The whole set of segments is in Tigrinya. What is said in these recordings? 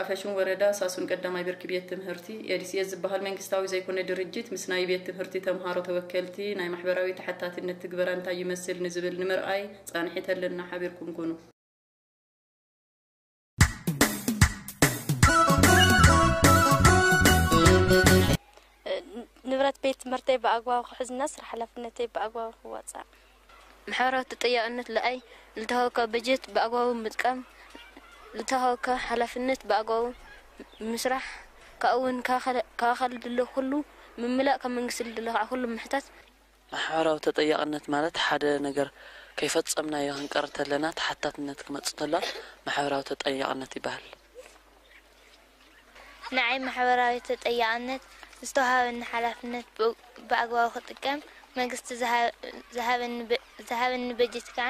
ኣፈሹም ወረዳ ሳሱን ቀዳማይ ብርኪ ቤት ትምህርቲ ኤዲሲኤስ ዝበሃል መንግስታዊ ዘይኮነ ድርጅት ምስ ናይ ቤት ትምህርቲ ተምሃሮ ተወከልቲ ናይ ማሕበራዊ ተሓታትነት ትግበራ እንታይ ይመስል ንዝብል ንምርኣይ ጻንሒት ኣለና። ሓቢርኩም ኩኑ። ንብረት ቤት ትምህርተይ ብኣግባቡ ክሕዝና ስራሕ ሓላፍነተይ ብኣግባቡ ክዋፃእ። ማሕበራዊ ተጠያቕነት ልኣይ ልተሃወካ በጀት ብኣግባቡ ምጥቃም፣ ልተሃወካ ሓላፍነት ብኣግባቡ ምስራሕ፣ ካብኡ እውን ካብ ኣካል ድሎ ኩሉ ምምላእ፣ ካብ መንግስቲ ልድሎ ከዓ ኩሉ ምሕታት። ማሕበራዊ ተጠያቕነት ማለት ሓደ ነገር ከይፈጸምናዮ ክንቀር ተለና ተሓታትነት ክመጽእ ተሎ ማሕበራዊ ተጠያቕነት ይበሃል። ንዓይ ማሕበራዊ ተጠያቕነት ዝተዋሃበኒ ሓላፍነት ብ-፣ ብኣግባቡ ክጥቀም፣ መንግስቲ ዝሃ-፣ ዝሃበኒ በ-፣ ዝሃበኒ በጀት ከዓ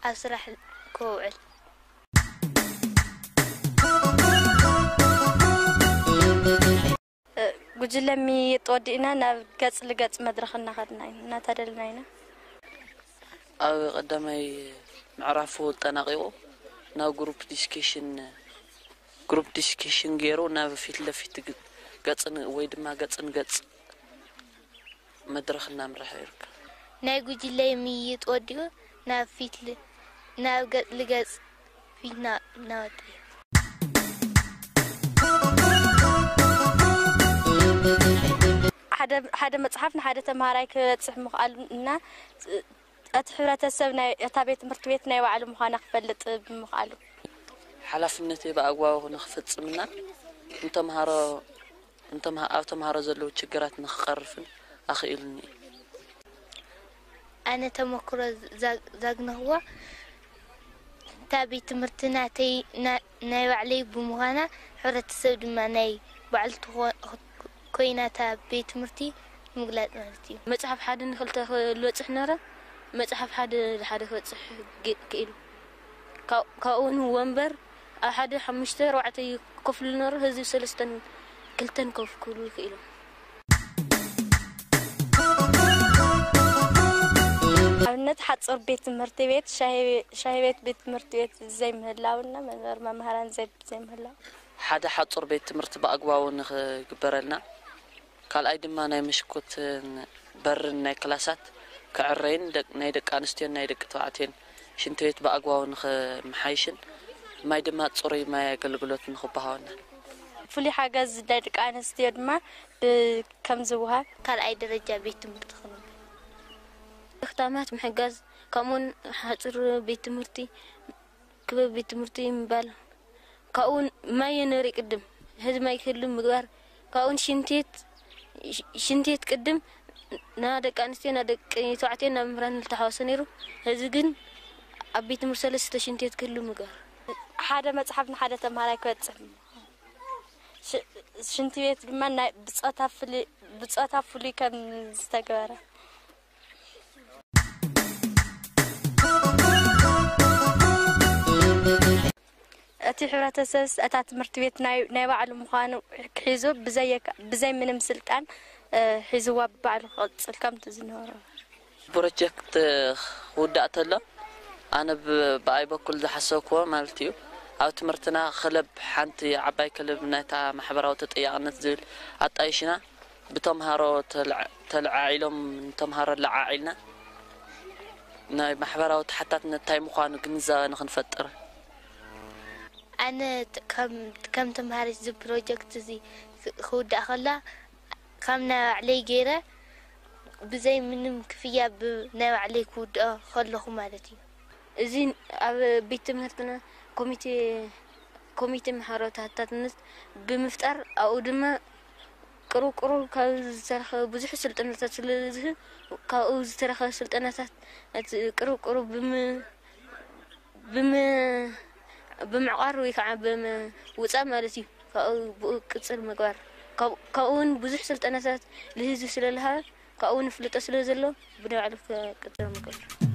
ኣብ ስራሕ ከውዕል። ጉጅለ ምይይጥ ወዲእና ናብ ገጽ ልገጽ መድረኽ እናኸድና ኢና፣ እናተደልና ኢና። ኣብ ቀዳማይ ምዕራፉ ኣጠናቒቑ ናብ ግሩፕ ዲስከሽን፣ ግሩፕ ዲስከሽን ገይሩ ናብ ፊት ለፊት ግ-፣ ገጽ ን-፣ ወይ ድማ ገጽ ንገጽ መድረኽ እናምርሐ ይርከብ። ናይ ጉጅለይ ምይይጥ ወዲኡ ናብ ፊት ል-፣ ናብ ገጽ ልገጽ ፊትና እናወደ እዩ። ሓደ፣ ሓደ መጽሓፍ ንሓደ ተምሃራይ ክበጽሕ ምኽኣሉ እና እቲ ሕብረተሰብ ናይ እታ ቤት ትምህርቲ ቤት ናይ ባዕሉ ምዃና ክፈልጥ ብምኽኣሉ። ሓላፍነተይ ብኣግባቡ ንኽፍጽምና ንተምሃሮ፣ ንተምሃ-፣ ኣብ ተምሃሮ ዘለዉ ችግራት ንኽቐርፍን ኣኽኢሉኒ እዩ። ኣነ ተመክሮ ዛ-፣ ዛግነኽዎ እታ ቤት ትምህርቲ ናተይ፣ ና-፣ ናይ ባዕለይ ብምዃና፣ ሕብረተሰብ ድማ ናይ ባዕሉ ትኾ-፣ ኮይና እታ ቤት ትምህርቲ ምግላጽ ማለት እዩ። መጽሓፍ ሓደ ንኽልተ ክበጽሕ ነረ፣ መጽሓፍ ሓደ ንሓደ ክበጽሕ ግ-፣ ክኢሉ። ካብ-፣ ካብኡ ንወንበር ኣብ ሓደ ሓሙሽተ ኣርባዕተ እዩ ኮፍ ኢሉ ነሩ፣ ህዝቢ ሰለስተን ክልተን ኮፍ ክብሉ ይኽእሉ። ኣብነት ሓጹር ቤት ትምህርቲ ቤት፣ ሻሂ ቤ-፣ ሻሂ ቤት ቤት ትምህርቲ ቤት ዘይምህላውና መንበር መምህራን ዘይ-፣ ዘይምህላው። ሓደ ሓጹር ቤት ትምህርቲ ብኣግባቡ ንኽግበረልና፣ ካልኣይ ድማ ናይ መሽኮትን በርን ናይ ክላሳት ክዕረይን ደቅ-፣ ናይ ደቂ ኣንስትዮን ናይ ደቂ ተባዕትዮን ሽንቲ ቤት ብኣግባቡ ንኽመሓይሽን ማይ ድማ ጽሩይ ማይ ኣገልግሎት ንኽበሃወና። ፍሉይ ሓገዝ ናይ ደቂ ኣንስትዮ ድማ ብ-፣ ከም ዝወሃብ። ካልኣይ ደረጃ ቤት ትምህርቲ ክንብል። ክታማት ምሕጋዝ፣ ከምኡውን ሓጹር ቤት ትምህርቲ፣ ክበብ ቤት ትምህርቲ ምባል። ካብኡን ማይ የነሪ ቅድም፣ ሕዚ ማይ ክህሉ ምግባር። ካብኡን ሽንት ቤት፣ ሽ-፣ ሽንት ቤት ቅድም ና ደቂ ኣንስትዮ፣ ና ደቂ ተባዕትዮ፣ ና መምህራን ዝተሓዋወሰ ነይሩ። ሕዚ ግን ኣብ ቤት ትምህርቲ ሰለስተ ሽንት ቤት ክህሉ ምግባር። ሓደ መጽሓፍ ንሓደ ተምሃራይ ክበጽሕ። ሽ-፣ ሽንት ቤት ድማ ናይ ብጾታ ፍሉይ፣ ብጾታ ፍሉይ ከም ዝተገበረ። እቲ ሕብረተሰብስ እታ ትምህርቲ ቤት ናይ፣ ናይ ባዕሉ ምዃኑ ክሒዙ ብዘይ፣ ብዘይ ምንም ስልጣን፣ እ፣ ሒዝዋ ብባዕሉ ክቕጽል ከምቲ ዝነበሮ። ፕሮጀክት ክውዳእ ተሎ ኣነ ብ-፣ ብኣይ በኩል ዝሓሰብክዎ ማለት እዩ። ኣብ ትምህርትና ክለብ፣ ሓንቲ ዓባይ ክለብ ናይታ ማሕበራዊ ተጠያቕነት ዝብል ኣጣይሽና ብተምሃሮ ተልዓ-፣ ተለዓዒሎም ንተምሃሮ ለዓዒልና ናይ ማሕበራዊ ተሓታትነት እንታይ ምዃኑ ግንዛበ ንኽንፈጥር። ኣነ ት-፣ ከም፣ ከም ተምሃሪት እዚ ፕሮጀክት እዚ ክ-፣ ክውዳእ ከላ ካብ ናይ ባዕለይ ገይረ ብዘይ ምንም ክፍያ ብ-፣ ናይ ባዕለይ ክውድኦ ከለኹ ማለት እዩ። እዚ ኣብ ቤት ትምህርትና ኮሚቴ፣ ኮሚቴ ማሕበራዊ ተሓታትነት ብምፍጣር ኣብኡ ድማ ቅሩብ ቅሩብ ካብ ዝተረኸበ ብዙሕ ስልጠናታት ስለ ዝህብ ካብኡ ዝተረኸበ ስልጠናታት እቲ ቅሩብ ቅሩብ ብም-፣ ብም-፣ ብምዕቋር ወይ ከዓ ብምውፃእ ማለት እዩ። ካብኡ ብኡ ቅፅል ምግባር። ካብ-፣ ካብኡ እውን ብዙሕ ስልጠናታት ንህዝቢ ስለ ዝሃበ ካብኡ እውን ፍልጦ ስለ ዘሎ ብናይ ባዕሉ ክቅፅል ምግባር።